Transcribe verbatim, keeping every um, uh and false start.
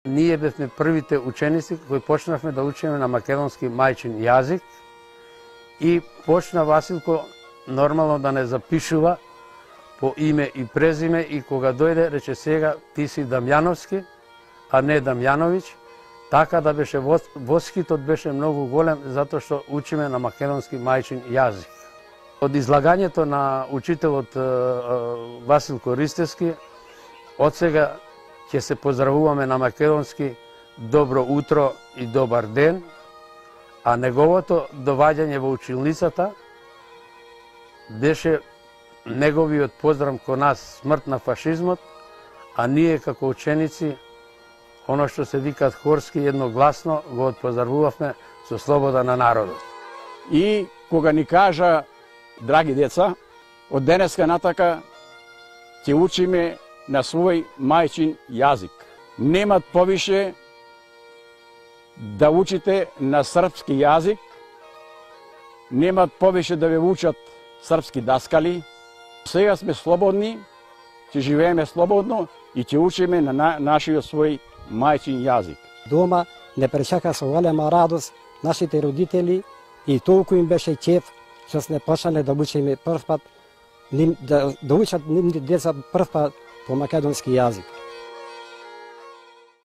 Ние бевме првите ученици кои почнавме да учиме на македонски мајчин јазик и почна Василко нормално да не запишува по име и презиме и кога дојде рече сега ти си Дамјановски, а не Дамјановиќ, така да беше воскитот беше многу голем затоа што учиме на македонски мајчин јазик. Од излагањето на учителот Василко Ристевски, од сега ќе се поздравуваме на македонски добро утро и добар ден, а неговото доваѓање во училницата беше неговиот поздрав кон нас смрт на фашизмот, а ние како ученици, оно што се викат хорски, едногласно го отпоздравувавме со слобода на народот. И кога ни кажа, драги деца, од денеска натака ќе учиме на свој мајчин јазик. Немат повише да учите на српски јазик, немат повише да ве учат српски даскали. Сега сме слободни, ќе живееме слободно и ќе учиме на, на нашиот свој мајчин јазик. Дома не пречака со голема радост нашите родители и толку им беше ќеф што сме почнале да учиме прв пат, да, да учат нивните деца прв пат по македонски јазик.